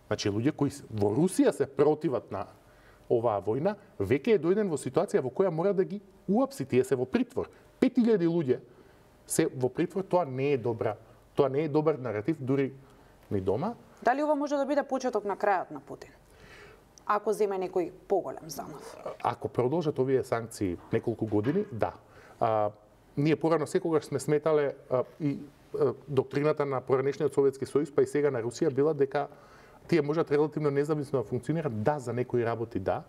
Значи, луѓе кои во Русија се противат на оваа војна, веќе е дојден во ситуација во која мора да ги уапси, тие се во притвор. 5000 луѓе се во притвор, тоа не е добар наратив дури ни дома. Дали ова може да биде почеток на крајот на Путин? Ако земе некој поголем замав? Ако продолжат овие санкции неколку години, да. Ние порано секогаш сме сметале и доктрината на поранешниот Советски сојуз, па и сега на Русија била дека тие можат релативно независно да функционираат, да, за некои работи да,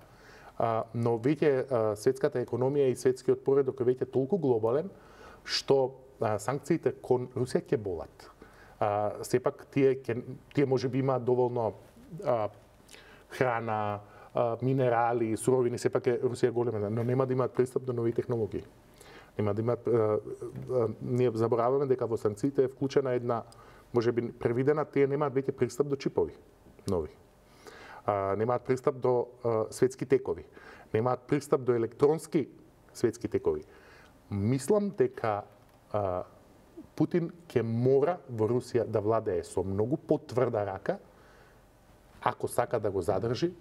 но веќе светската економија и светскиот поредок е веќе толку глобален, што санкциите кон Русија ќе болат. Сепак тие може би имаат доволно храна, минерали, суровини, сепак е Русија голема, но нема да имаат пристап до нови технологии. Нема да имаат, ние забораваме дека во санкциите е вклучена една, може би превидена, тие немаат веќе пристап до чипови нови. Немаат пристап до светски текови. Немаат пристап до електронски светски текови. Мислам дека Путин ќе мора во Русија да владее со многу потврда рака, ако сака да го задржи,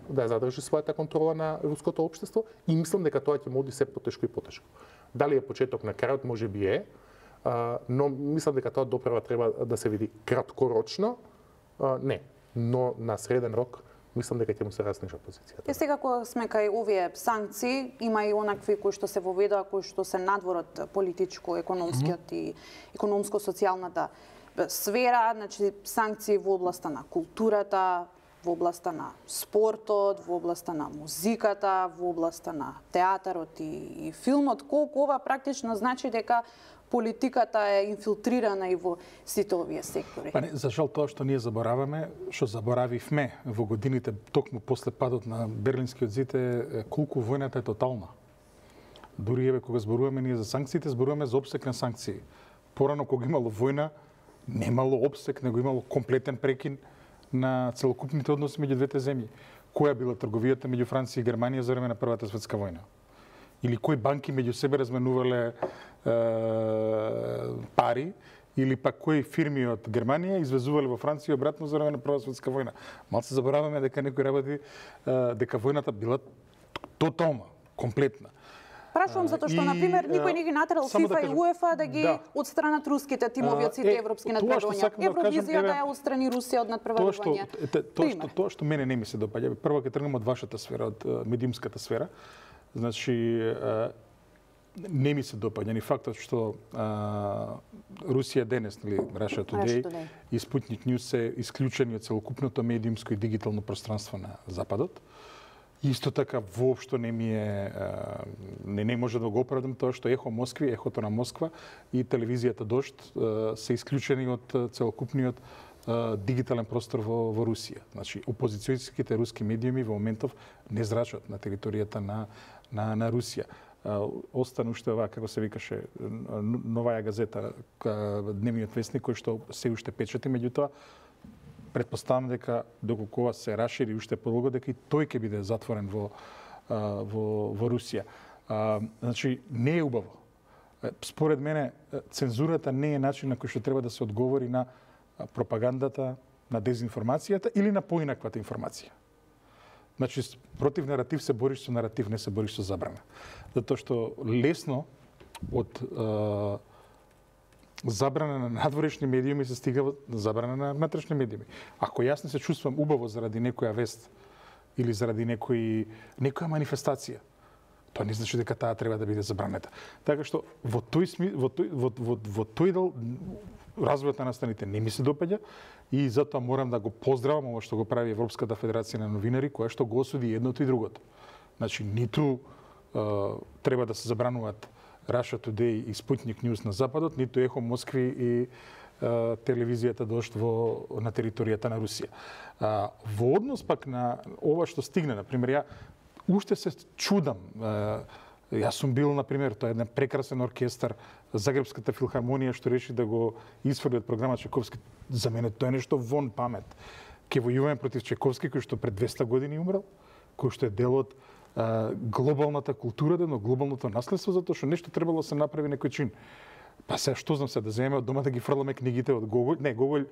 да задржи својата контрола на руското општество, и мислам дека тоа ќе му оди се потешко и потешко. Дали е почеток на крајот, може би е, но мислам дека тоа доправа треба да се види краткорочно, не, но на среден рок мислам дека ќе му се разнежа позицијата. И сега кога сме кај овие санкции, има и онакви кои што се воведоа, кои што се надвор од политичко-економскиот и економско-социјалната сфера, значи санкции во областа на културата, во областа на спортот, во областа на музиката, во областа на театарот и филмот. Колку ова практично значи дека политиката е инфилтрирана и во сите овие сектори. Па не, за жал тоа што ние забораваме, што заборавивме во годините токму после падот на Берлинскиот зид е колку војната е тотална. Дури еве кога зборуваме ние за санкциите, зборуваме за опсек на санкции. Порано кога имало војна, немало опсек, него имало комплетен прекин на целокупните односи меѓу двете земји. Која била трговијата меѓу Франција и Германија за време на Првата светска војна? Или кои банки меѓу себе разменувале пари, или пак кои фирми од Германија извезувале во Франција обратно за време на Прва светска војна. Малце забораваме дека некои работи, дека војната била тотална, комплетна. Прашувам затоа што, например, никој не ги натерал ФИФА и УЕФА да ги отстранат руските тимови од сите европски надпреварувања. Евровизијата ја отстрани Русија од надпреварување. Тоа што мене не ми се допаѓа. Прво ќе тргнем од вашата сфера, од медиумската сфера. Значи, не ми се допаѓа ни фактот што Русија денес, или Russia Today и Sputnik News се исклучени од целокупното медиумско и дигитално пространство на Западот. Исто така воопшто не ми е не може да го оправдам тоа што Ехо Москви, Ехото на Москва и телевизијата Дожд се исклучени од целокупниот дигитален простор во Русија. Значи, опозицијските руски медиуми во моментов не зрачат на територијата на Русија. Остана уште оваа, како се викаше, Новаја газета, Дневниот вестник, кој што се уште печати, меѓутоа претпоставам дека доколку ова се расшири уште подолго, дека и тој ќе биде затворен во Русија. Значи, не е убаво. Според мене, цензурата не е начин на кој што треба да се одговори на пропагандата, на дезинформацијата или на поинаквата информација. Значи, против наратив се бориш со наратив, не се бориш со забрана. Затоа што лесно од забрана на надворешни медиуми се стига до забрана на внатрешни медиуми. Ако јас не се чувствам убаво заради некоја вест или заради некоја манифестација, тоа не значи дека таа треба да биде забранета. Така што во тој дел развојот на настаните не ми се допаѓа и затоа морам да го поздравам ова што го прави Европската федерација на новинари, која што го осуди едното и другото. Значи, ниту треба да се забрануваат Russia Today и Sputnik News на Западот, ниту Ехо Москви и телевизијата Дожд на територијата на Русија. Во однос пак на ова што стигне, например, ја уште се чудам. Јас сум бил, например, тоа е еден прекрасен оркестар, Загребската филхармонија, што реши да го исфрли од програма Чайковски. За мене тоа е нешто вон памет. Ке војуваме против Чайковски, кој што пред 200 години умрел, кој што е дел од глобалната култура, но глобалното наследство, затоа што нешто требало да се направи некој чин. Па се што знам се да земеме од дома да ги фрламе книгите од Гоголј. Не, Гоголј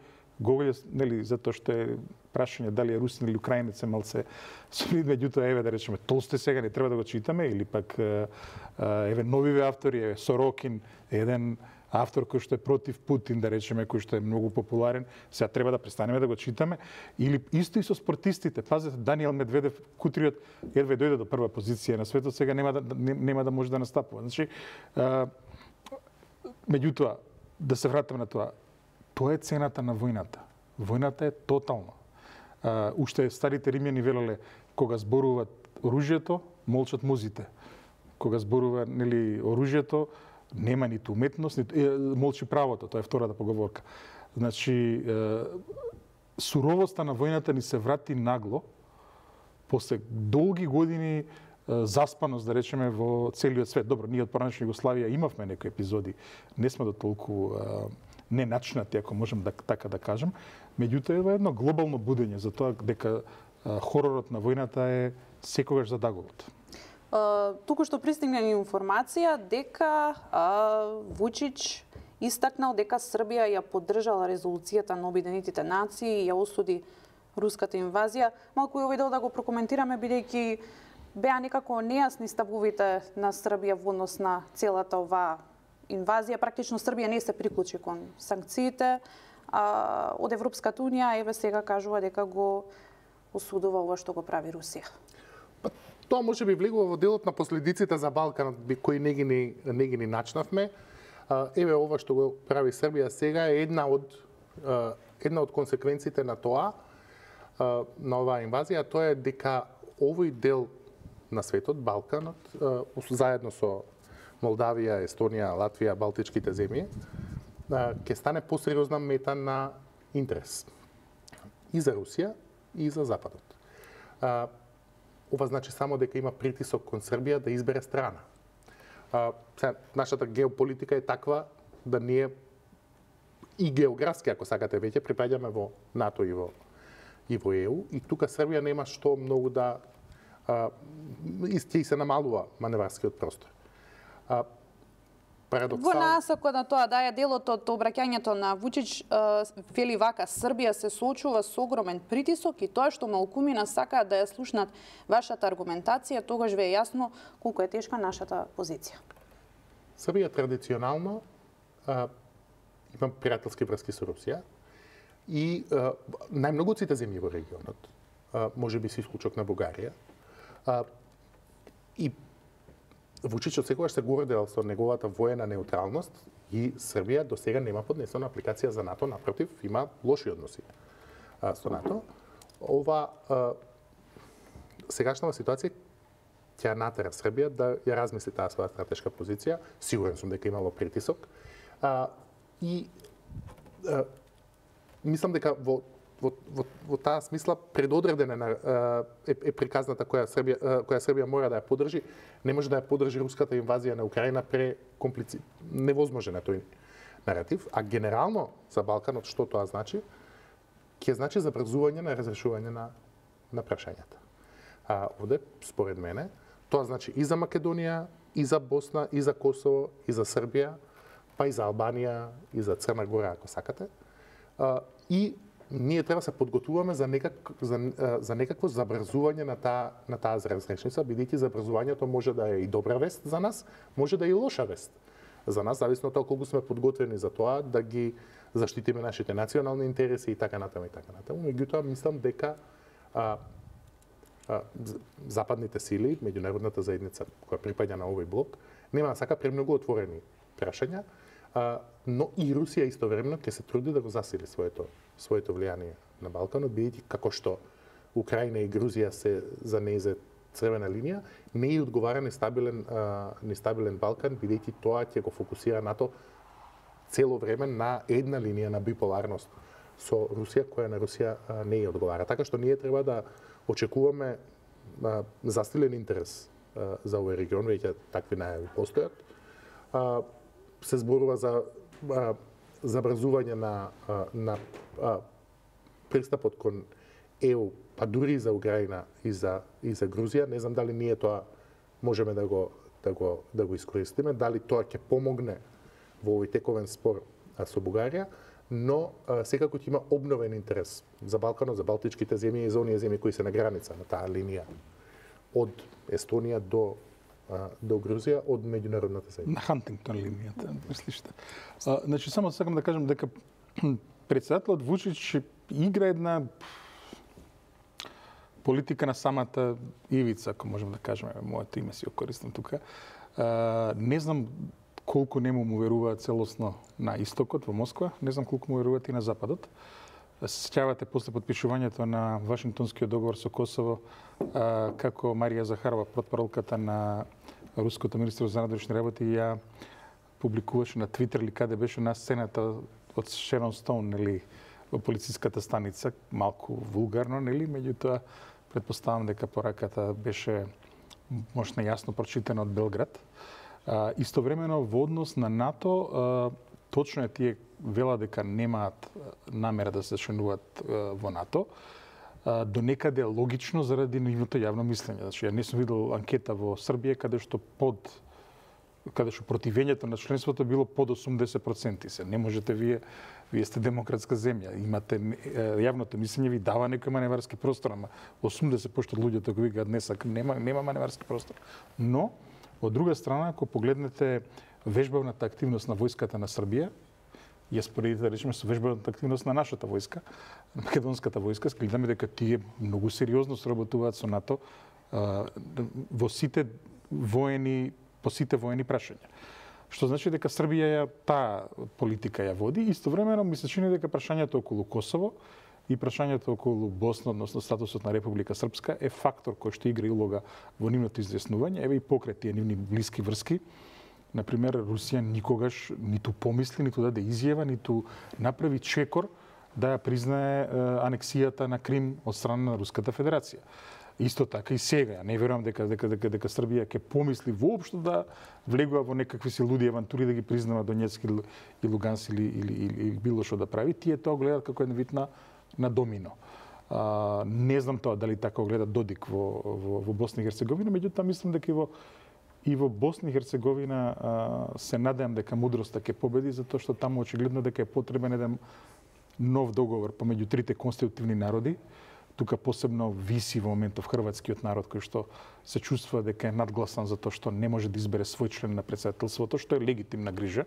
нели затоа што е прашање дали е русин или украинец, малце солид, меѓутоа еве да речеме Толстој сега не треба да го читаме или пак еве новиве автори, еве Сорокин, еден автор кој што е против Путин, да речеме, кој што е многу популарен, сега треба да престанеме да го читаме, или исто и со спортистите. Пазете, Даниел Медведев, кутриот, едва дојде до прва позиција на светот, сега нема да може да настапува. Значи, меѓутоа, да се вратиме на тоа, тоа е цената на војната. Војната е тотална. Уште старите римјани велеле, кога зборуваат оружјето, молчат музите. Кога зборува нели оружјето, нема ниту уметност, молчи правото, тоа е втората поговорка. Значи, суровоста на војната ни се врати нагло, после долги години заспаност, да речеме, во целиот свет. Добро, ние од поранешна Југославија имавме некои епизоди, не сме до толку неначнати, ако можем така да кажем, меѓутоа е едно глобално будење за тоа дека хоророт на војната е секогаш задагуват. Туку што пристигна информација дека Вучич истакнал дека Србија ја поддржала резолуцијата на Обединетите нации и ја осуди руската инвазија. Малку и овој дел да го прокоментираме, бидејќи беа некако нејасни ставовите на Србија во однос на целата оваа инвазија. Практично Србија не се приклучи кон санкциите од Европската унија, еве сега кажува дека го осудува ова што го прави Русија. Тоа може би влегува во делот на последиците за Балканот, кои не ги начнавме. Еве ова што го прави Србија сега е една од консеквенциите на тоа, на оваа инвазија, тоа е дека овој дел на светот, Балканот, заедно со Молдавија, Естонија, Латвија, Балтичките земји, ќе стане посериозна мета на интерес и за Русија и за Западот. Ова значи само дека има притисок кон Србија да избере страна. Нашата геополитика е таква да ние и географски, ако сакате веќе, припаѓаме во НАТО и во ЕУ, и тука Србија нема што многу да ќе се намалува маневарскиот простор. Во насока на тоа да е делот од обраќањето на Вучич, вели вака: Србија се соочува со огромен притисок и тоа што малкумина сакаат да ја слушнат вашата аргументација, тогаш ве е јасно колку е тешка нашата позиција. Србија традиционално има пријателски врски со Русија и најмногу од сите земји во регионот, можеби со исклучок на Бугарија, и Вучич секогаш се гордел со неговата воена неутралност и Србија до сега нема поднесена апликација за НАТО, напротив, има лоши односи со НАТО. Ова сегашнава ситуација ќе натера Србија да ја размисли таа своја стратешка позиција. Сигурен сум дека имало притисок. Мислам дека во таа смисла предодредена е приказната која Србија мора да ја поддржи. Не може да ја поддржи руската инвазија на Украина невозможен е тој наратив, а генерално за Балканот што тоа значи? Ќе значи забрзување на разрешување на прашањата. Овде, според мене, тоа значи и за Македонија, и за Босна, и за Косово, и за Србија, па и за Албанија, и за Црна Гора, ако сакате. И ние треба се подготвуваме за некакво забрзување на таа разрешница, бидејќи забрзувањето може да е и добра вест за нас, може да е и лоша вест за нас, зависно од тоа колку сме подготвени за тоа да ги заштитиме нашите национални интереси и така натаму и така натаму. Меѓутоа, мислам дека западните сили, меѓународната заедница која припаѓа на овој блок, нема да сака премногу отворени прашања, но и Русија истовремено ќе се труди да го засили своето влијание на Балканот, бидејќи како што Украина и Грузија се за нејзе црвена линија, не и одговара нестабилен Балкан, бидејќи тоа ќе го фокусира НАТО цело време на една линија на биполарност со Русија, која на Русија не ја одговара. Така што ние треба да очекуваме застилен интерес за овој регион, веќе такви најави постојат. Се зборува за забрзување на пристапот кон ЕУ, па дури и за Украина и за Грузија. Не знам дали ние тоа можеме да го искористиме, дали тоа ќе помогне во овој тековен спор со Бугарија, но секако ќе има обновен интерес за Балканот, за балтичките земји и за оние земји кои се на граница на таа линија од Естонија до Грузија од меѓународната заедница. На Хантингтон линијата, мислиш? Значи само сакам да кажам дека председателот Вучич игра една политика на самата ивица, ако можем да кажеме, моето име си го користам тука. Не знам колку нему му веруваат целосно на истокот во Москва, не знам колку му веруваат и на западот. Се сеќавате после подпишувањето на Вашингтонскиот договор со Косово, како Марија Захарова, портпаролката на руското министерство за надворешни работи, ја публикуваше на Твитер или каде беше на сцената од Шерон Стоун, нели, во полициската станица, малку вулгарно, нели, меѓутоа претпоставам дека пораката беше можна јасно прочитана од Белград. Истовремено во однос на НАТО, точно е тие вела дека немаат намера да се членуваат во НАТО, до некаде логично заради нивното јавно мислење. Значи, ја не сум видел анкета во Србија каде што противењето на членството било под 80%. Се не можете вие сте демократска земја, имате јавното мислење ви дава некој маневарски простор, ама 80% од луѓето кои викаат нема маневарски простор. Но од друга страна, ако погледнете вежбавната активност на војската на Србија, ја споредите да речеме со вежбавната активност на нашата војска, македонската војска, гледаме дека тие многу сериозно сработуваат со НАТО во сите по сите воени прашања. Што значи дека Србија таа политика ја води, истовремено ми се чини дека прашањето околу Косово и прашањето околу Босна, односно статусот на Република Српска, е фактор кој што игра улога во нивното изјаснување, еве и покрај тие нивни блиски врски. Например, Русија никогаш ниту помисли, ниту даде изјава, ниту направи чекор да ја признае анексијата на Крим од страна на Руската Федерација. Исто така и сега, не верувам дека Србија ќе помисли воопшто да влегува во некакви си луди авантури да ги признава Донецк и Луганск или било што да прави. Тие тоа гледаат како една вид на домино. Не знам тоа дали така гледа Додик во Босна и Херцеговина, меѓутоа мислам дека и во Босна и Херцеговина се надевам дека мудроста ќе победи, затоа што таму очигледно дека е потребен еден нов договор помеѓу трите конститутивни народи. Тука посебно виси во моментов хрватскиот народ кој што се чувствува дека е надгласан за тоа што не може да избере свој член на претседателството, што е легитимна грижа.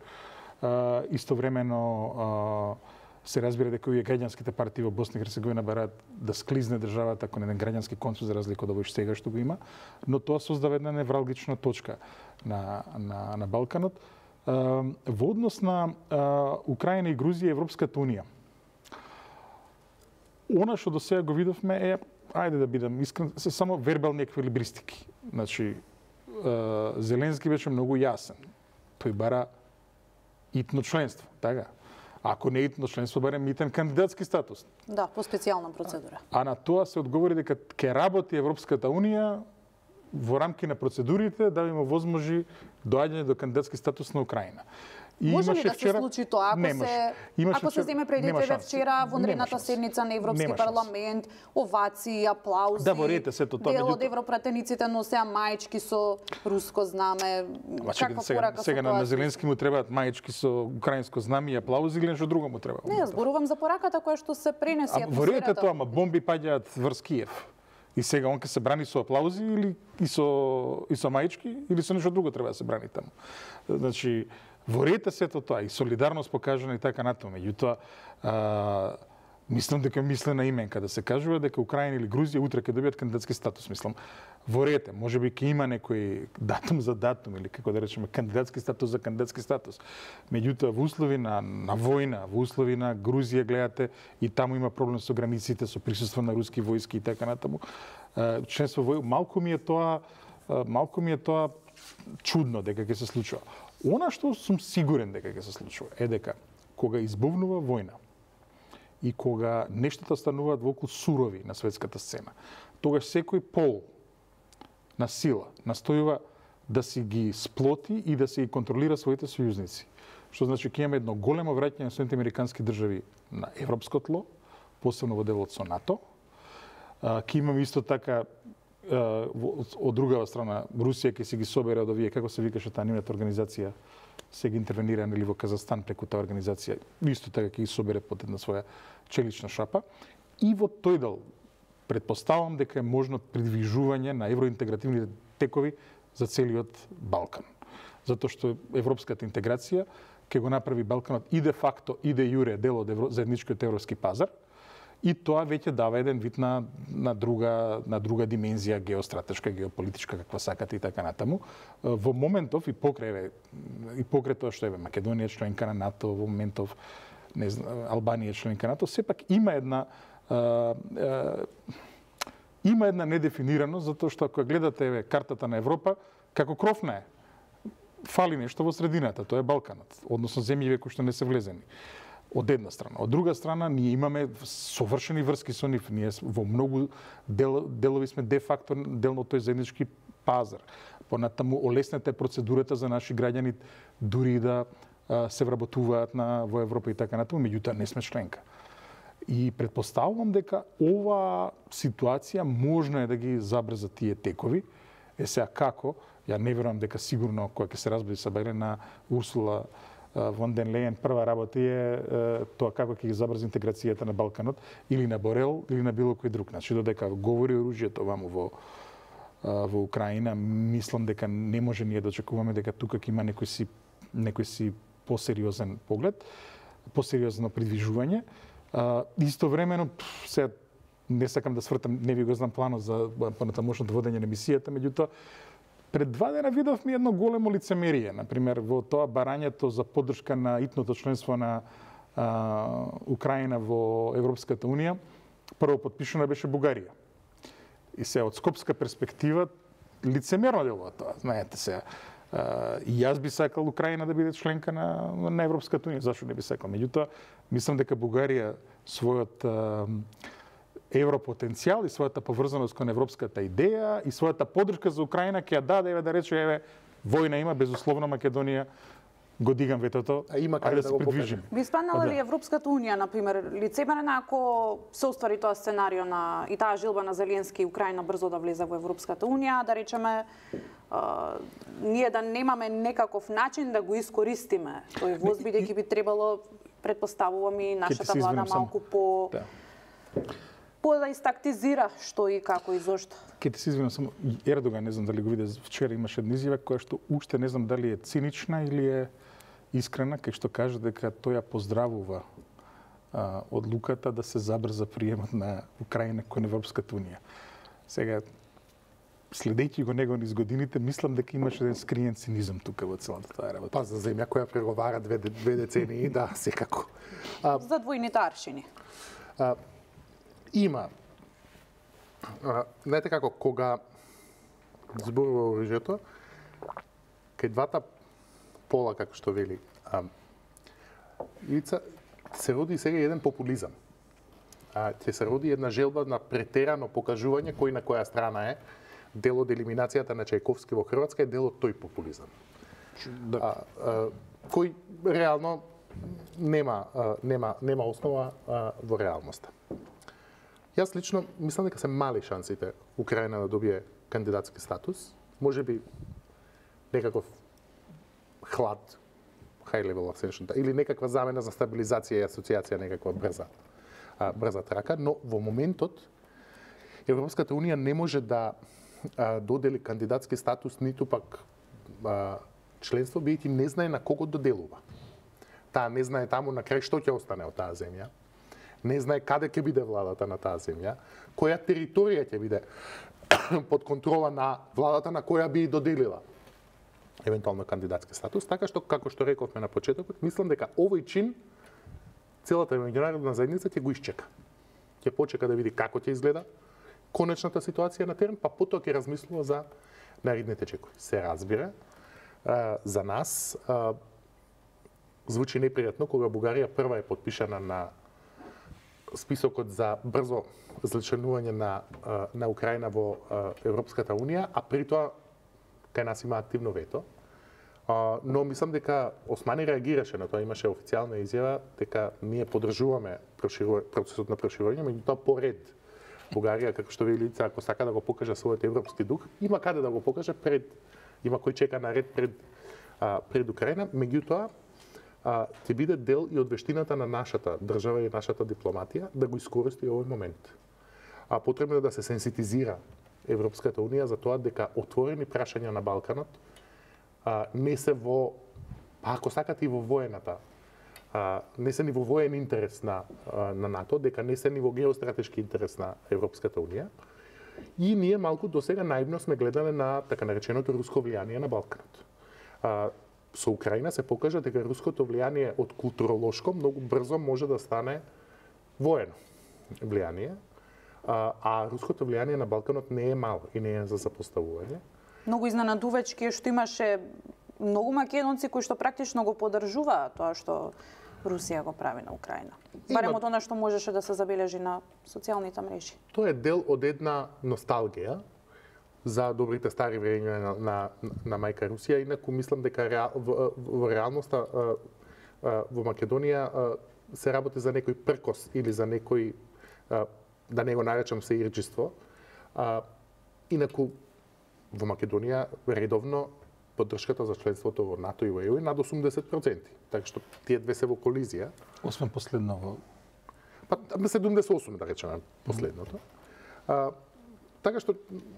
Истовремено се разбира дека овие граѓанските партии во Босна и Херцеговина бараат да склизне државата кон еден граѓански консул за разлика од овој сега што го има, но тоа создава една невралгична точка на Балканот. Во однос на Украина и Грузија и Европската унија, она што до сега го видовме е, ајде да бидам искрен, се само вербални еквилибристики. Значи, Зеленски беше многу јасен. Тој бара итно членство, така? Ако не итно членство, барем итен кандидатски статус. Да, по специјална процедура. А на тоа се одговори дека ќе работи Европската унија во рамки на процедурите да има возможи доаѓање до кандидатски статус на Украина. Може ли да се случи тоа ако се земе предвид вчера вонредната седница на Европски парламент, овации, аплаузи, дел од европратениците носеа маечки со руско знаме, каква порака сега на Зеленски му требаат маечки со украинско знаме и аплаузи или нешто друго му треба? Не, зборувам за пораката која што се пренеси атмосферата. Во ред е тоа, ама бомби паѓаат врз Киев. И сега он ќе се брани со аплаузи или и со маечки или со нешто друго треба да се брани таму. Значи, во ред е сето тоа и солидарност покажана и така натаму. Меѓутоа, мислам дека мислена именка да се кажува дека Украина или Грузија утре ќе добијат кандидатски статус, мислам. Во ред е, можеби ќе има некој датум за датум или како да речеме кандидатски статус за кандидатски статус. Меѓутоа во услови на војна, во услови на Грузија гледате и таму има проблем со границите, со присуство на руски војски и така натаму. Членство во малку ми е тоа чудно дека ќе се случува. Она што сум сигурен дека ќе се случува е дека кога избувнува војна и кога нештата стануваат волку сурови на светската сцена, тогаш секој пол на сила настојува да си ги сплоти и да си ги контролира своите сојузници. Што значи ќе имаме едно големо враќање на Соединетите американски држави на европско тло, посебно во делот со НАТО. Ќе имаме исто така од другава страна Русија ќе си ги собере од овие, како се викаше таа нивната организација, се ги интервенира нели во Казахстан преку таа организација, исто така ќе ги собере под една своја челична шапа. И во тој дел претпоставам дека е можно придвижување на евроинтегративните текови за целиот Балкан. Затоа што европската интеграција ќе го направи Балканот и де факто и де јуре дел од заедничкиот европски пазар. И тоа веќе дава еден вид на друга димензија геостратешка, геополитичка, каква сакате и така натаму. Во моментов и покрај тоа што е Македонија членка на НАТО, во моментов не знам, Албанија членка на НАТО, сепак има една недефинираност, затоа што ако гледате картата на Европа, како кровна е, фали нешто во средината, тоа е Балканот, односно земји кои што не се влезени. Од една страна. Од друга страна, ние имаме совршени врски со нив. Ние во многу делови сме де факто дел од тој заеднички пазар. Понатаму олеснете процедурата за наши граѓани дури да се вработуваат во Европа и така натаму, меѓутоа не сме членка. И претпоставувам дека ова ситуација можно е да ги забрза тие текови. Сега како? Ја не верувам дека сигурно кога ќе се разбере сабајле на Урсула Вон ден Лејен прва работа е тоа како ќе ги забрзи интеграцијата на Балканот или на Борел или на било кој друг. Значи додека говори оружјето ваму во Украина, мислам дека не може ние да очекуваме дека тука ќе има некој си посериозен поглед, посериозно придвижување. Истовремено се не сакам да свртам, не ви го знам планот за понатамошното водење на мисијата, меѓутоа пред 2 дена видовме едно големо лицемерие, например, во тоа барањето за поддршка на итното членство на Украина во Европската Унија. Прво подпишана беше Бугарија. И се од скопска перспектива лицемерно делува тоа. Знаете се, и јас би сакал Украина да биде членка на Европската Унија, зашто не би сакал. Меѓутоа, мислам дека Бугарија својот европотенцијал и својата поврзаност кон европската идеја и својата поддршка за Украина ќе ја даде, да рече, војна има, безусловно Македонија го дигам ветото, ајде да се придвижим. Би спаднала ли Европската Унија, например, лицемерна ако се оствари тоа сценарио и таа жилба на Зеленски и Украина брзо да влезе во Европската Унија, да речеме, ние да немаме некаков начин да го искористиме тој воз, бидејќи би требало, предпоставувам и нашата влада малку да истактизира што и како и зошто. Ке ти се извинам само, Ердоган, не знам дали го виде, вчера имаше една изјава која што уште не знам дали е цинична или е искрена, кај што каже дека тој ја поздравува одлуката да се забрза приемот на Украина кон Европската Унија. Сега, следејќи го него низ годините, мислам дека имаше еден скриен цинизам тука во целата таа работа. Па за земја која преговара две децении, да, секако. За двојните аршини. Има. Знаете како, кога зборува оружјето, кај двата пола, како што вели, Ивица, се роди сега еден популизам. Ќе се роди една желба на претерано покажување кој на која страна е. Дел од елиминацијата на Чајковски во Хрватска е дел од тој популизам. Кој реално нема основа во реалноста. Јас лично мислам дека се мали шансите Украина да добие кандидатски статус. Може би некаков хлад, high level accession, или некаква замена за стабилизација и асоциација, некаква брза трака, но во моментот Европската Унија не може да додели кандидатски статус, ниту пак членство, бидејќи не знае на кого доделува. Таа не знае таму на крај што ќе остане од таа земја. Не знае каде ќе биде владата на таа земја, која територија ќе биде под контрола на владата на која би доделила евентуално кандидатски статус, така што, како што рековме на почетокот, мислам дека овој чин целата меѓународна заедница ќе го исчека. Ќе почека да види како ќе изгледа конечната ситуација на терен, па потоа ќе размислува за наредните чекови. Се разбира, за нас звучи непријатно кога Бугарија прва е подпишана на списокот за брзо зачленување на Украина во Европската Унија, а при тоа кај нас има активно вето. Но мислам дека Османи реагираше на тоа, имаше официјална изјава дека ние поддржуваме процесот на проширување, меѓутоа по ред Бугарија, како што ви лица, ако сака да го покаже својот европски дух, има каде да го покаже има кој чека на ред пред Украина, меѓутоа ќе биде дел и од вештината на нашата држава и нашата дипломатија да го искористи овој момент. Потребно е да се сенситизира Европската Унија за тоа дека отворени прашања на Балканот не се ако сакате и во воената, не се ни во воен интерес на НАТО, дека не се ни во геостратешки интерес на Европската Унија. И ние малку досега наивно сме гледале на така нареченото руско влијание на Балканот. Со Украина се покажа дека руското влијание од културолошко многу брзо може да стане воено влијание, а руското влијание на Балканот не е мало и не е за запоставување. Многу изненадувачки што имаше многу македонци кои што практично го поддржуваат тоа што Русија го прави на Украина. Барем од она што можеше да се забележи на социјалните мрежи. Тоа е дел од една носталгија за добрите стари времиња на мајка Русија. Инаку мислам дека во реалноста во Македонија се работи за некој пркос или за некој, да не го наречам сеирџиство. Инаку во Македонија редовно поддршката за членството во НАТО и во ЕУ е над 80%. Така што тие две се во колизија. Освен последно во 78 да речеме последното. Така што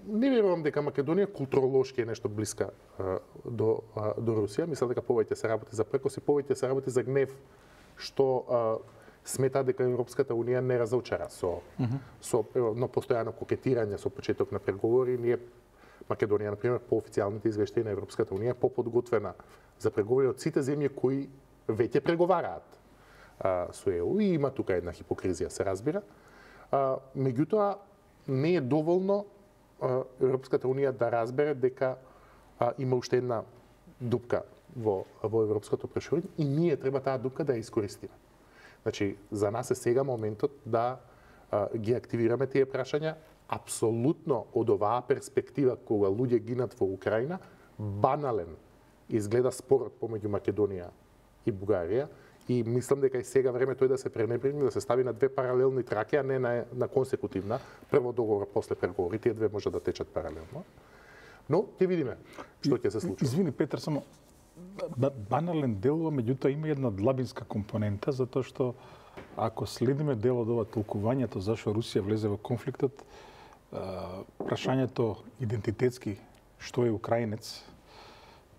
не верувам дека Македонија културолошки е нешто блиска до Русија. Мислам дека повеќе се работи за прекос и повеќе се работи за гнев што смета дека Европската Унија не разочара со постојано кокетирање со почеток на преговори. Ние Македонија, например, по официјалните извештаи на Европската Унија поподготвена за преговори од сите земји кои веќе преговараат со ЕУ и има тука една хипокризија, се разбира. Меѓутоа, не е доволно Европската Унија да разбере дека има уште една дупка во европското проширење и ние треба таа дупка да ја искористиме. Значи, за нас е сега моментот да ги активираме тие прашања. Апсолутно од оваа перспектива кога луѓе гинат во Украина, банален изгледа спорот помеѓу Македонија и Бугарија и мислам дека и сега време тој да се пренебрегне, да се стави на две паралелни траки, а не на консекутивна. Прво договор, после преговори, тие две може да течат паралелно. Но ќе видиме што ќе се случи. Извини Петар, само банален делува, меѓутоа има една длабинска компонента, затоа што ако следиме дел од ова толкувањето зашто Русија влезе во конфликтот, прашањето идентитетски што е украинец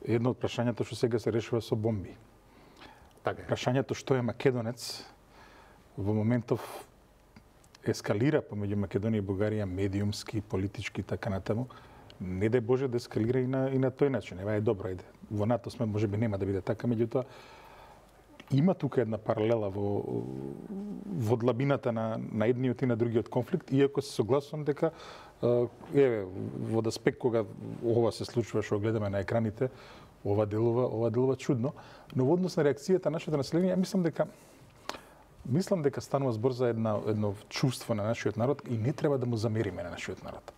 е едно од прашањето што сега се решува со бомби. Така. Прашањето што е македонец во моментов ескалира помеѓу Македонија и Бугарија медиумски, политички и така натаму. Не дај Боже да ескалира и на тој начин. Ева е добро, ајде. Во НАТО сме, можеби нема да биде така, меѓутоа има тука една паралела во длабината на едниот и на другиот конфликт, иако се согласувам дека во аспект кога ова се случува што гледаме на екраните, ова делува чудно, но во однос на реакцијата на нашето население, мислам дека станува збор за едно чувство на нашиот народ и не треба да му замериме на нашиот народ.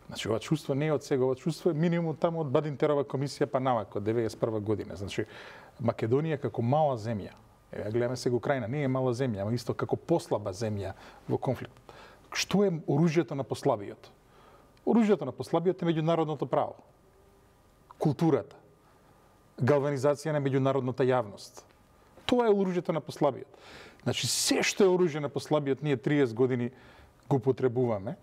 Значи, ова чувство не е од сега, ова чувство е минимум таму од Бадинтерова комисија па навако, од 91 година. Значи, Македонија како мала земја, гледаме сега Украина, не е мала земја, ама исто како послаба земја во конфликт. Што е оружјето на послабиот? Оружјето на послабиот е меѓународното право, културата, галванизација на меѓународната јавност. Тоа е оружјето на послабиот. Значи, се што е оружје на послабиот, ние 30 години го потребуваме.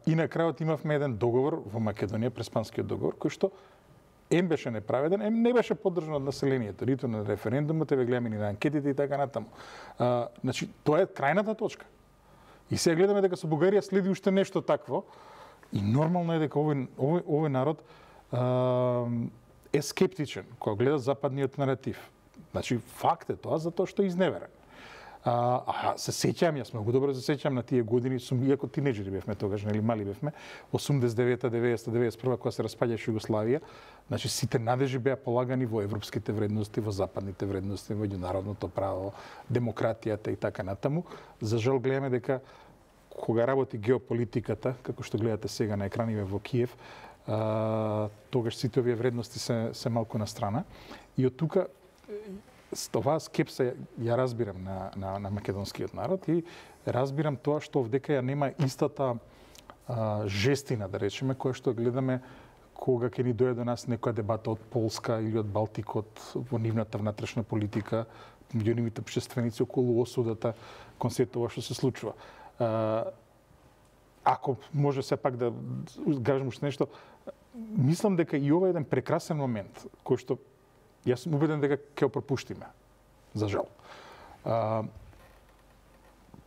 И на крајот имавме еден договор во Македонија, Преспанскиот договор, кој што беше неправеден, не беше поддржан од населението, ниту на референдумот, гледаме ни на анкетите и така натаму. Значи, тоа е крајната точка. И сега гледаме дека со Бугарија следи уште нешто такво и нормално е дека овој народ е скептичен кога гледа западниот наратив. Значи, факт е тоа затоа што е изневерен. Се сеќам, јас многу добро се сеќам на тие години, иако тинеџери бевме тогаш, нели мали бевме, 89-та, 90-та, 91-та, кога се распаѓаше Југославија, значи сите надежи беа полагани во европските вредности, во западните вредности, во меѓународното право, демократијата и така натаму. За жал гледаме дека кога работи геополитиката, како што гледате сега на екраниве во Киев, тогаш сите овие вредности се малку на страна. И од тука оваа скепса ја разбирам на македонскиот народ и разбирам тоа што овдека ја нема истата жестина, да речеме, која што гледаме кога ќе ни дојде до нас некоја дебата од Полска или од Балтикот во нивната внатрешна политика, меѓу нивните општественици околу осудата кон сето ова што се случува. Ако може сепак да кажам уште нешто, мислам дека и ова е еден прекрасен момент кој што јас сум убеден дека ќе го пропуштиме, за жал.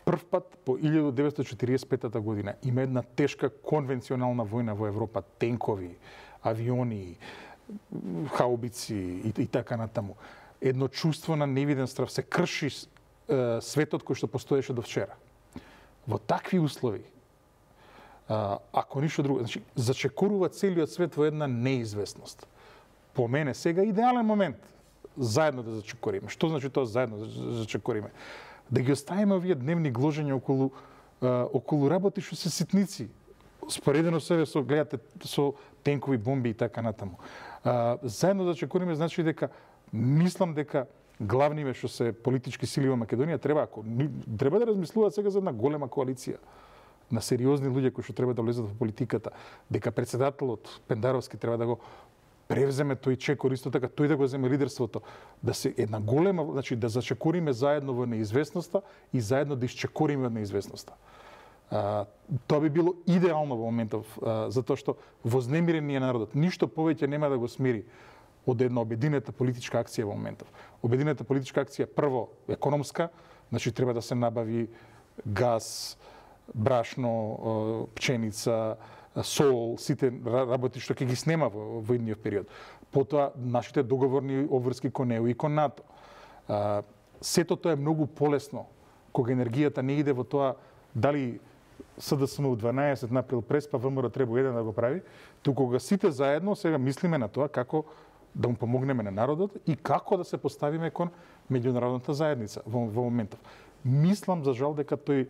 Прв пат по 1945 година има една тешка конвенционална војна во Европа, тенкови, авиони, хаубици и така натаму. Едно чувство на невиден страв, се крши светот кој што постоеше до вчера. Во такви услови, ако ништо друго, значи зачекорува целиот свет во една неизвестност. По мене сега идеален момент заедно да зачекориме. Што значи тоа заедно да зачекориме? Да ги оставиме овие дневни гложења околу работи што се ситници. Споредено себе со гледате со тенкови бомби и така натаму. Заедно да зачекориме значи дека мислам дека главниве што се политички сили во Македонија треба да размислуваат сега за една голема коалиција на сериозни луѓе кои што треба да влезат во политиката, дека претседателот Пендаровски треба да го превземе тој чекор, исто така тој да го земе лидерството, да се една голема, значи да зачекориме заедно во неизвестноста и заедно да исчекориме од неизвестноста. Тоа би било идеално во моментов, затоа што вознемирениот народот ништо повеќе нема да го смири од една обединета политичка акција во моментов. Обединета политичка акција прво економска, значи треба да се набави газ, брашно, пченица, сол, сите работи што ќе ги снема во идниот период. Потоа нашите договорни обврски кон ЕУ и кон НАТО. Сето тоа е многу полесно кога енергијата не иде во тоа дали СДСМ 12 направил преспа, ВМРО треба еден да го прави, туку кога сите заедно сега мислиме на тоа како да му помогнеме на народот и како да се поставиме кон меѓународната заедница во моментов. Мислам за жал дека тој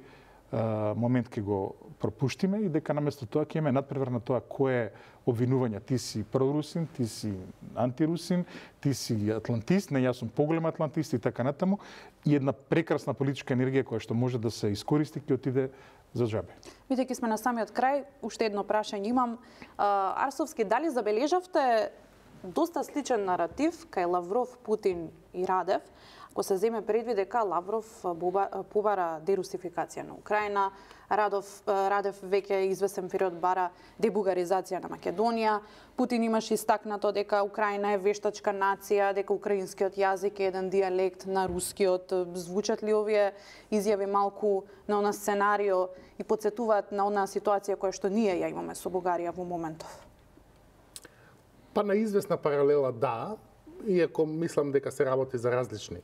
момент ќе го пропуштиме и дека наместо тоа ќе имаме надпревар на тоа кој е обвинување. Ти си прорусин, ти си антирусин, ти си атлантист, не јас сум поголем атлантист и така натаму, и една прекрасна политичка енергија која што може да се искористи ќе отиде за џабе. Бидејќи сме на самиот крај, уште едно прашање имам. Арсовски, дали забележавте доста сличен наратив кај Лавров, Путин и Радев, ако се земе предвид дека Лавров побара дерусификација на Украина, Радев веќе известен период бара дебугаризација на Македонија, Путин имаше истакнато дека Украина е вештачка нација, дека украинскиот јазик е еден дијалект на рускиот. Звучат ли овие изјави малку на она сценарио и потсетуваат на она ситуација која што ние ја имаме со Бугарија во моментов? Па на известна паралела да, иако мислам дека се работи за различни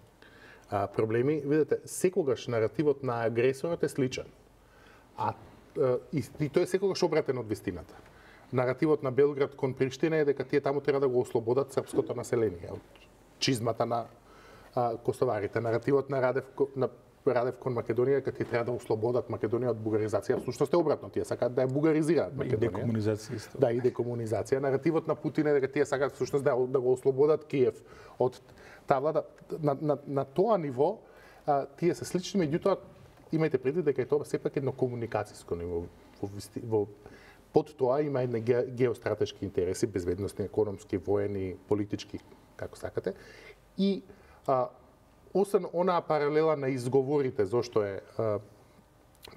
проблеми. Видете, секогаш наративот на агресорот е сличен. И тој е секогаш обратен од вистината. Наративот на Белград кон Приштина е дека тие таму треба да го ослободат српското население од чизмата на косоварите. Наративот на Радев кон Македонија дека тие треба да ослободат Македонија од бугаризација. Всушност е обратно, тие сакаат да ја бугаризираат Македонија. И декомунизација исто. Да, и декомунизација. Наративот на Путин е дека тие сакаат всушност да го ослободат Киев од таа влада. На тоа ниво тие се слични, меѓутоа имајте предвид дека е тоа сепак едно комуникацијско ниво. Под тоа има едни геостратешки интереси, безбедносни, економски, воени, политички, како сакате. И освен онаа паралела на изговорите зошто е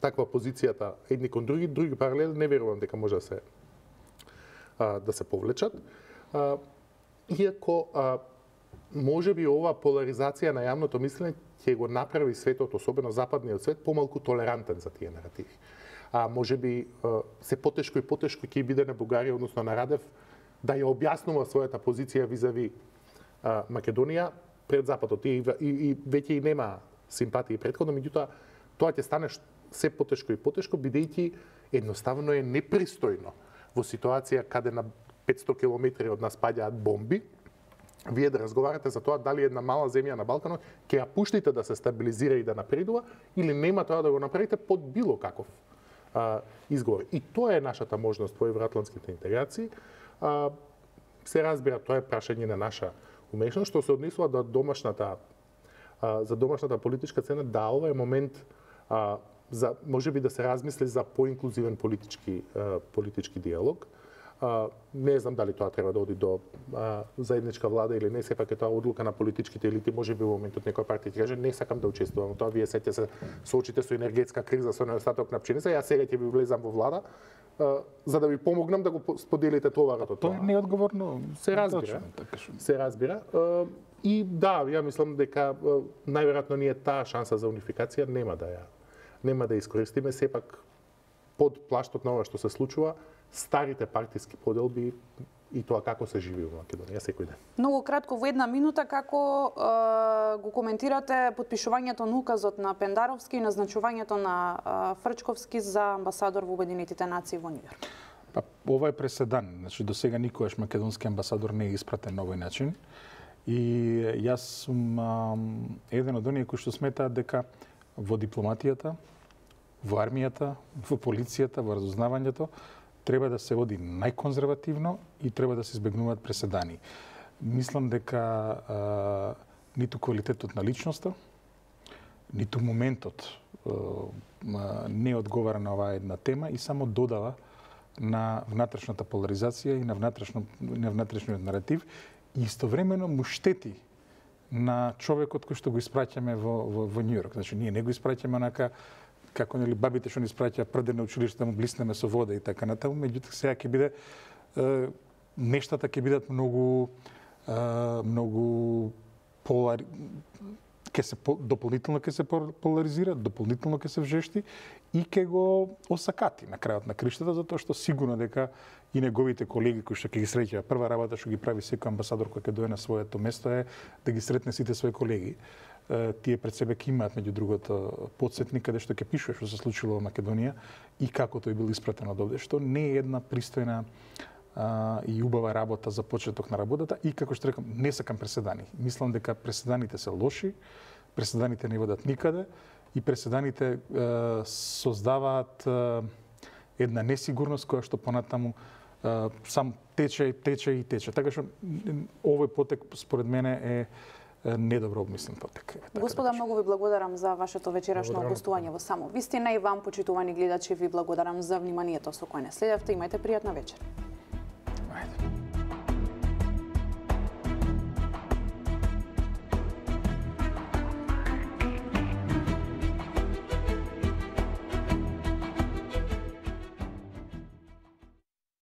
таква позицијата едни кон други паралели не верувам дека може да се повлечат. Иако може би ова поларизација на јавното мислење ќе го направи светот, особено западниот свет, помалку толерантен за тие наративи. Може би се потешко и потешко ќе биде на Бугарија, односно на Радев, да ја објаснува својата позиција визави Македонија пред Западот и веќе и нема симпатии претходно, меѓутоа тоа ќе стане се потешко и потешко, бидејќи едноставно е непристојно во ситуација каде на 500 километри од нас паѓаат бомби, вие да разговарате за тоа дали една мала земја на Балканот ќе ја пуштите да се стабилизира и да напредува или нема тоа да го направите под било каков изговор. И тоа е нашата можност во евроатлантските интеграции. Се разбира, тоа е прашање на наша умешност, што се однесува до домашната за домашната политичка сцена, да, ова е момент за можеби да се размисли за поинклузивен политички диалог. Не знам дали тоа треба да оди до заедничка влада или не, сепак е тоа одлука на политичките елити, можеби во моментот некоја партија каже не сакам да учествувам. Тоа вие сеќате се соочите со енергетска криза, со недостаток на пшеница, јас сега ќе ви влезам во влада за да ви помогнам да го споделите товарот од тоа. Тоа е неодговорно. Се разбира. Се разбира. И да, ја мислам дека најверојатно ние таа шанса за унификација нема да искористиме, сепак под плаштот на ова што се случува, старите партиски поделби и тоа како се живи во Македонија секој ден. Многу кратко во една минута, како го коментирате подпишувањето на указот на Пендаровски и назначувањето на Фрчковски за амбасадор во Обединетите нации во Њујорк? Па, ова е преседан. Значи, до сега никогаш македонски амбасадор не е испратен на овој начин. И јас сум еден од оние кои што сметаат дека во дипломатијата, во армијата, во полицијата, во разузнавањето, треба да се оди најконзервативно и треба да се избегнуваат преседани. Мислам дека ниту квалитетот на личноста, ниту моментот не одговара на оваа една тема и само додава на внатрешната поларизација и на внатрешниот наратив и истовремено му штети на човекот кој што го испраќаме во Њујорк. Значи, ние не го испраќаме онака како нели бабите што ни испраќаат прде на училиште да му блиснеме со вода и така натаму, меѓутоа сега ќе биде нештата ќе бидат многу дополнително ќе се поларизира, дополнително ќе се вжешти и ќе го осакати на крајот на криштата, затоа што сигурно дека и неговите колеги кои што ќе ги среќаат, прва работа што ги прави секој амбасадор кој ќе дое на своето место е да ги сретне сите своји колеги. Тие пред себе ќе имаат меѓу другото подсетник каде што ќе пишува што се случило во Македонија и како тој бил испратен од овде, што не е една пристојна и убава работа за почеток на работата и како што рекам, не сакам преседани. Мислам дека преседаните се лоши, преседаните не водат никаде и преседаните создаваат една несигурност која што понатаму сам тече. Така што овој потек според мене е недобро обмислен потек. Господа, многу ви благодарам за вашето вечерашно гостување во Само вистина и вам, почитувани гледачи, ви благодарам за вниманието со кое не следевте. Имајте пријатна вечер. Ајде.